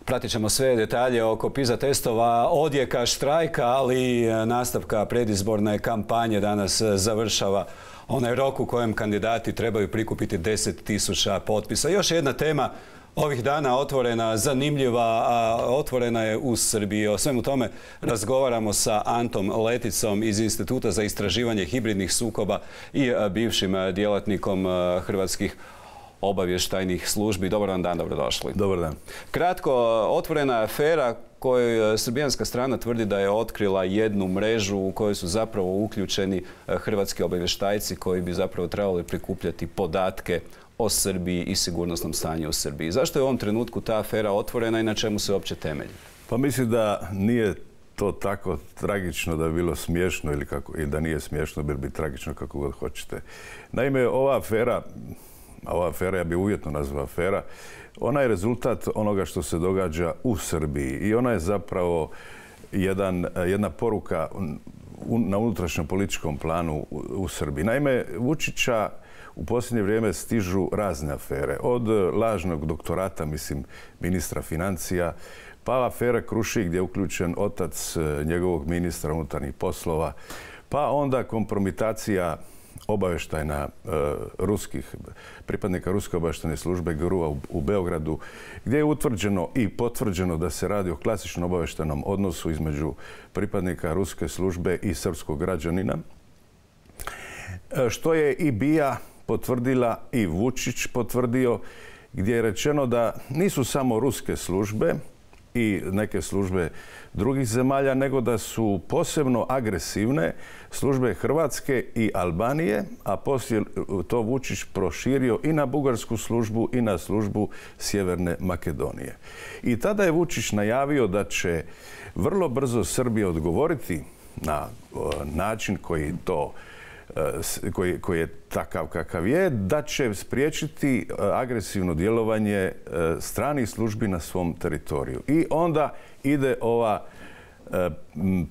Pratit ćemo sve detalje oko PISA testova, odjeka štrajka, ali i nastavka predizborne kampanje. Danas završava onaj rok u kojem kandidati trebaju prikupiti 10.000 potpisa. Još jedna tema ovih dana otvorena, zanimljiva, a otvorena je u Srbiji. O svemu tome razgovaramo sa Antom Leticom iz Instituta za istraživanje hibridnih sukoba i bivšim djelatnikom hrvatskih obavještajnih službi. Dobar vam dan, dobrodošli. Dobar dan. Kratko, otvorena afera koju srbijanska strana tvrdi da je otkrila jednu mrežu u kojoj su zapravo uključeni hrvatski obavještajci koji bi zapravo trebali prikupljati podatke o Srbiji i sigurnosnom stanju u Srbiji. Zašto je u ovom trenutku ta afera otvorena i na čemu se uopće temelji? Pa mislim da nije to tako tragično da bi bilo smiješno i da nije smiješno, bilo bi tragično kako god hoćete. Naime, ova afera, ja bi uvjetno nazvao afera, ona je rezultat onoga što se događa u Srbiji i ona je zapravo jedna poruka na unutrašnjem političkom planu u Srbiji. Naime, Vučića u posljednje vrijeme stižu razne afere. Od lažnog doktorata, mislim, ministra financija, pa afera Krušik gdje je uključen otac njegovog ministra unutarnjih poslova, pa onda kompromitacija obavještajna pripadnika Ruske obavještajne službe GRU-a u Beogradu, gdje je utvrđeno i potvrđeno da se radi o klasičnom obavještajnom odnosu između pripadnika Ruske službe i srpskog građanina, što je i BIA potvrdila i Vučić potvrdio, gdje je rečeno da nisu samo ruske službe i neke službe drugih zemalja, nego da su posebno agresivne službe Hrvatske i Albanije, a poslije to Vučić proširio i na bugarsku službu i na službu Sjeverne Makedonije. I tada je Vučić najavio da će vrlo brzo Srbija odgovoriti na način koji je takav kakav je, da će spriječiti agresivno djelovanje stranih službi na svom teritoriju. I onda ide ova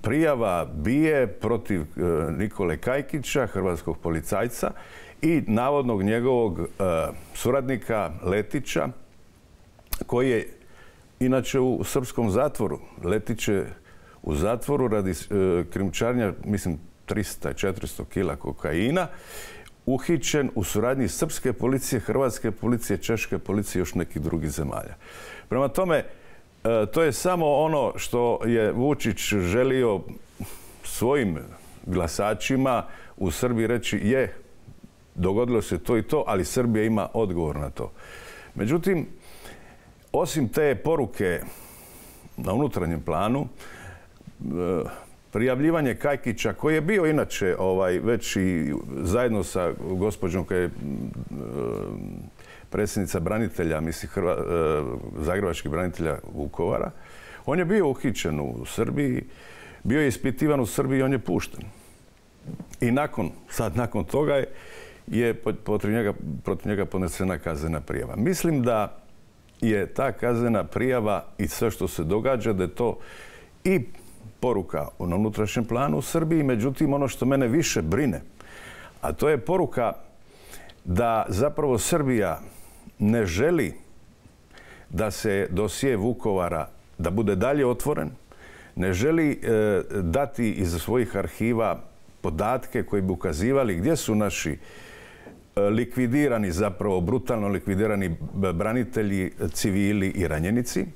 prijava BIA protiv Nikole Kajkića, hrvatskog policajca, i navodnog njegovog suradnika Letića, koji je inače u srpskom zatvoru. Letić je u zatvoru radi krijumčarenja, mislim, 300-400 kila kokaina, uhićen u suradnji srpske policije, hrvatske policije, češke policije i još nekih drugih zemalja. Prema tome, to je samo ono što je Vučić želio svojim glasačima u Srbiji reći: dogodilo se to i to, ali Srbija ima odgovor na to. Međutim, osim te poruke na unutarnjem planu, prijavljivanje Kajkića, koji je bio inače već i zajedno sa gospođom koja je predsjednica branitelja, mislim, zagrebačkih branitelja Vukovara, on je bio uhićen u Srbiji, bio je ispitivan u Srbiji i on je pušten. I nakon toga je protiv njega podnesena kaznena prijava. Mislim da je ta kaznena prijava i sve što se događa, da je to i poruka na unutrašnjem planu u Srbiji. Međutim, ono što mene više brine, a to je poruka da zapravo Srbija ne želi da se dosje Vukovara da bude dalje otvoren, ne želi dati iz svojih arhiva podatke koji bi ukazivali gdje su naši likvidirani, zapravo brutalno likvidirani branitelji, civili i ranjenici.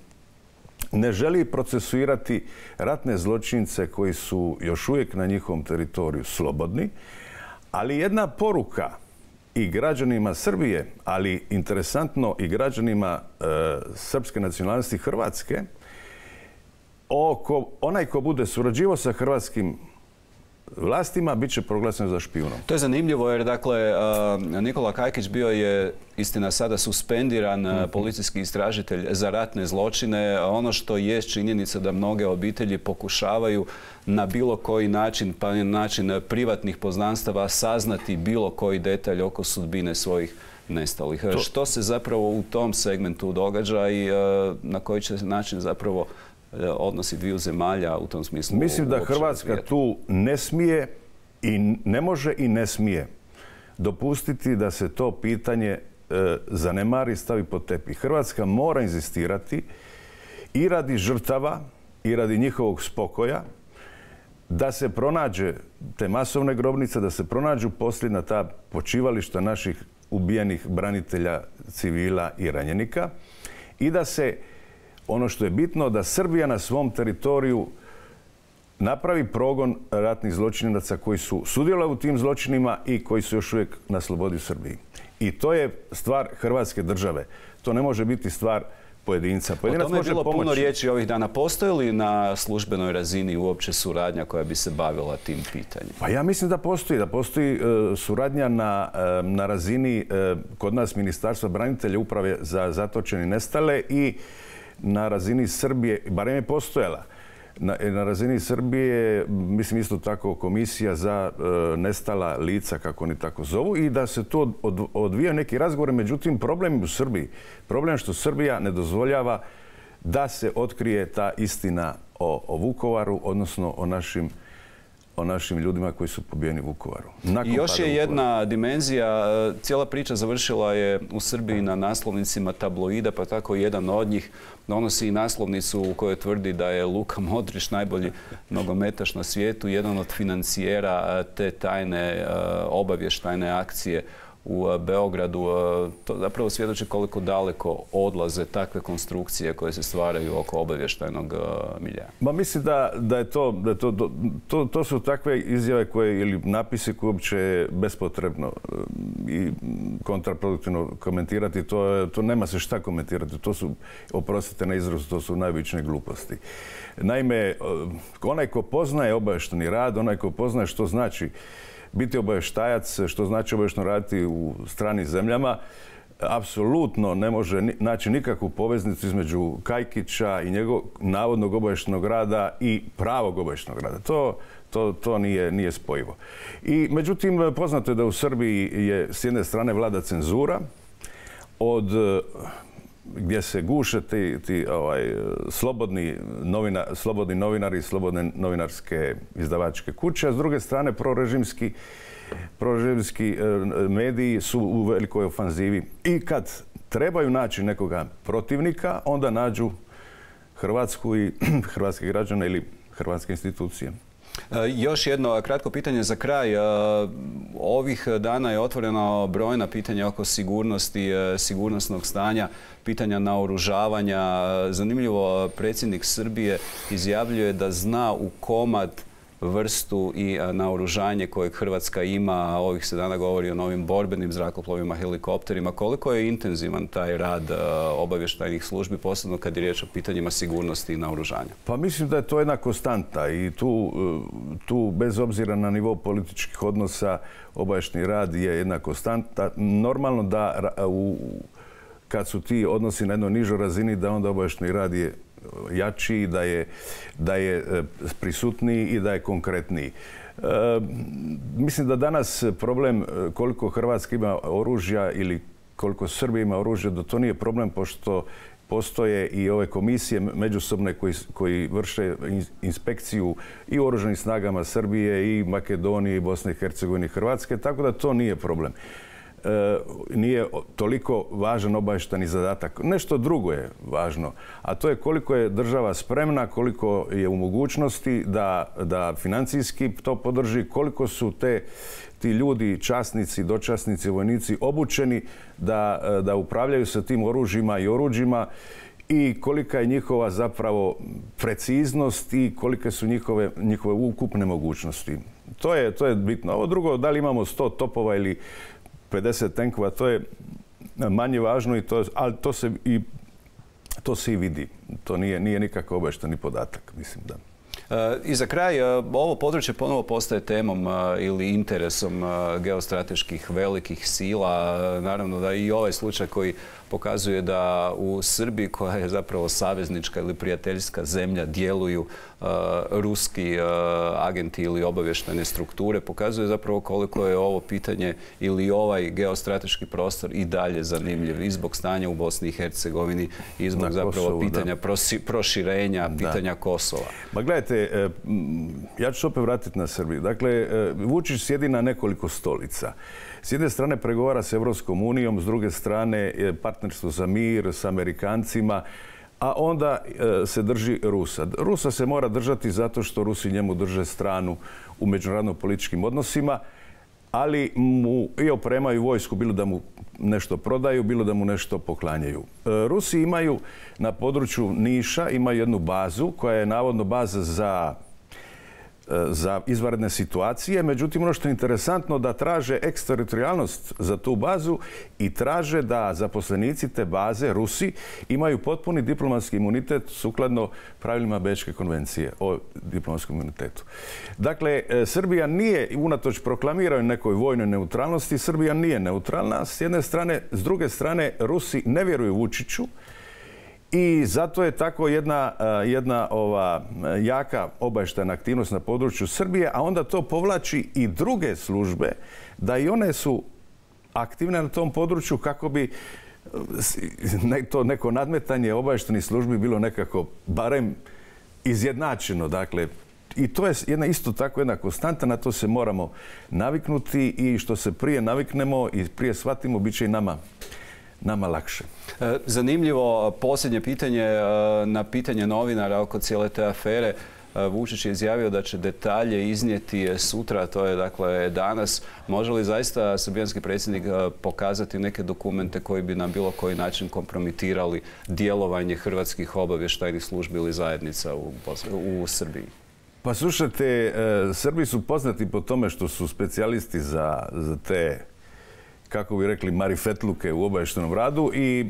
Ne želi procesuirati ratne zločince koji su još uvijek na njihovom teritoriju slobodni, ali jedna poruka i građanima Srbije, ali interesantno i građanima srpske nacionalnosti Hrvatske, onaj ko bude surađivao sa hrvatskim vlastima bit će proglašen za špijunom. To je zanimljivo jer, dakle, Nikola Kajkić bio je, istina, sada suspendiran policijski istražitelj za ratne zločine. Ono što je činjenica da mnoge obitelji pokušavaju na bilo koji način, pa na način privatnih poznanstava, saznati bilo koji detalj oko sudbine svojih nestalih. Što se zapravo u tom segmentu događa i na koji će način zapravo odnosi dviju zemalja u tom smislu? Mislim da Hrvatska tu ne smije i ne može i ne smije dopustiti da se to pitanje zanemari, stavi pod tepih. Hrvatska mora inzistirati i radi žrtava i radi njihovog spokoja, da se pronađe te masovne grobnice, da se pronađu posljedna ta počivališta naših ubijenih branitelja, civila i ranjenika i da se, ono što je bitno, da Srbija na svom teritoriju napravi progon ratnih zločinaca koji su sudjelovali u tim zločinima i koji su još uvijek na slobodi u Srbiji. I to je stvar Hrvatske države. To ne može biti stvar pojedinca. O tome je bilo puno riječi ovih dana. Postoji li na službenoj razini uopće suradnja koja bi se bavila tim pitanjem? Pa ja mislim da postoji. Da postoji suradnja na razini kod nas Ministarstva branitelja, Uprave za zatočene i nestale i na razini Srbije, barem je postojala. Na razini Srbije, mislim isto tako komisija za nestala lica, kako oni tako zovu, i da se tu odvijaju neki razgovori. Međutim, problem u Srbiji, problem što Srbija ne dozvoljava da se otkrije ta istina o Vukovaru, odnosno o našim ljudima koji su pobijeni u Vukovaru. I još je jedna dimenzija. Cijela priča završila je u Srbiji na naslovnicima tabloida, pa tako jedan od njih donosi i naslovnicu u kojoj tvrdi da je Luka Modrić najbolji nogometaš na svijetu, jedan od financijera te tajne obavještajne akcije u Beogradu. To zapravo svjedoči koliko daleko odlaze takve konstrukcije koje se stvaraju oko obavještajnog milja. Ma mislim da je to su takve izjave koje, ili napisi koje uopće je bespotrebno i kontraproduktivno komentirati. To nema se šta komentirati. To su, oprostite na izrazu, to su najobičnije gluposti. Naime, onaj ko poznaje obavještajni rad, onaj ko poznaje što znači biti obavještajac, što znači obavještajno raditi u stranim zemljama, apsolutno ne može naći nikakvu poveznicu između Kajkića i njegovog navodnog obavještajnog rada i pravog obavještajnog rada. To nije spojivo. I međutim, poznato je da u Srbiji je s jedne strane vlada cenzura, gdje se guše ti slobodni novinari i slobodne novinarske izdavačke kuće, a s druge strane prorežimski mediji su u velikoj ofanzivi. I kad trebaju naći nekoga protivnika, onda nađu Hrvatsku i hrvatske građane ili hrvatske institucije. Još jedno kratko pitanje za kraj. Ovih dana je otvoreno brojna pitanja oko sigurnosti, sigurnosnog stanja, pitanja naoružavanja. Zanimljivo, predsjednik Srbije izjavljuje da zna u komad vrstu i naoružanje kojeg Hrvatska ima. Ovih se dana govori o novim borbenim zrakoplovima, helikopterima. Koliko je intenzivan taj rad obavještajnih službi, posebno kad je riječ o pitanjima sigurnosti i naoružanja? Pa mislim da je to jedna konstanta i tu bez obzira na nivo političkih odnosa, obavještajni rad je jedna konstanta. Normalno da kad su ti odnosi na jednoj nižoj razini, da onda obavještajni rad je jači, da je prisutniji i da je konkretniji. Mislim da danas problem koliko Hrvatska ima oružja ili koliko Srbija ima oružja, da to nije problem, pošto postoje i ove komisije međusobne koji vrše inspekciju i u oružanim snagama Srbije i Makedonije i Bosne i Hercegovine i Hrvatske, tako da to nije problem. Nije toliko važan obavještajni zadatak. Nešto drugo je važno, a to je koliko je država spremna, koliko je u mogućnosti da financijski to podrži, koliko su ti ljudi, časnici, dočasnici, vojnici obučeni da upravljaju sa tim oružjima i oruđima i kolika je njihova zapravo preciznost i kolike su njihove ukupne mogućnosti. To je bitno. Ovo drugo, da li imamo 100 topova ili 50 tenkova, to je manje važno, ali to se i vidi. To nije nikakav obavještajni podatak, mislim da. I za kraj, ovo područje ponovo postaje temom ili interesom geostrateških velikih sila. Naravno da i ovaj slučaj koji pokazuje da u Srbiji, koja je zapravo saveznička ili prijateljska zemlja, djeluju ruski agenti ili obavještajne strukture, pokazuje zapravo koliko je ovo pitanje ili ovaj geostrateški prostor i dalje zanimljiv i zbog stanja u Bosni i Hercegovini i zbog zapravo pitanja proširenja, pitanja Kosova. Ma gledajte, ja ću se opet vratiti na Srbiju. Dakle, Vučić sjedi na nekoliko stolica. S jedne strane pregovara s Evropskom unijom, s druge strane partnerstvo za mir s Amerikancima, a onda se drži Rusa. Rusa se mora držati zato što Rusi njemu drže stranu u međunarodno političkim odnosima, ali mu i opremaju vojsku, bilo da mu nešto prodaju, bilo da mu nešto poklanjaju. Rusi imaju na području Niša imaju jednu bazu koja je navodno baza za izvanredne situacije. Međutim, ono što je interesantno da traže eksteritorijalnost za tu bazu i traže da zaposlenici te baze, Rusi, imaju potpuni diplomatski imunitet sukladno pravilima Bečke konvencije o diplomatskom imunitetu. Dakle, Srbija nije, unatoč proklamiranju nekoj vojnoj neutralnosti, Srbija nije neutralna s jedne strane. S druge strane, Rusi ne vjeruju Vučiću. I zato je tako jedna jaka obavještajna aktivnost na području Srbije, a onda to povlači i druge službe da i one su aktivne na tom području kako bi to neko nadmetanje obavještajnih službi bilo nekako barem izjednačeno. Dakle, i to je isto tako jedna konstanta, na to se moramo naviknuti i što se prije naviknemo i prije shvatimo, bit će i nama lakše. Zanimljivo posljednje pitanje na pitanje novinara oko cijele te afere. Vučić je izjavio da će detalje iznijeti sutra, to je dakle danas. Može li zaista srbijanski predsjednik pokazati neke dokumente koji bi na bilo koji način kompromitirali djelovanje hrvatskih obavještajnih službi ili zajednica u Srbiji? Pa slušajte, Srbi su poznati po tome što su specijalisti za te, kako bi rekli, marifetluke u obavještajnom radu i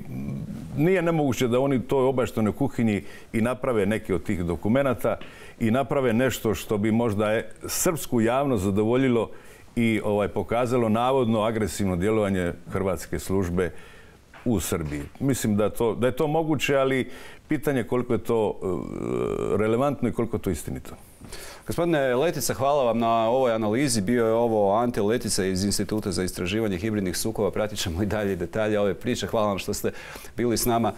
nije nemoguće da oni toj obavještajnoj kuhinji i naprave neke od tih dokumenata i naprave nešto što bi možda srpsku javnost zadovoljilo i pokazalo navodno agresivno djelovanje hrvatske službe u Srbiji. Mislim da je to moguće, ali pitanje koliko je to relevantno i koliko je to istinito. Gospodine Letica, hvala vam na ovoj analizi. Bio je ovo Ante Letica iz Instituta za istraživanje hibridnih sukoba. Pratit ćemo i dalje detalje ove priče. Hvala vam što ste bili s nama.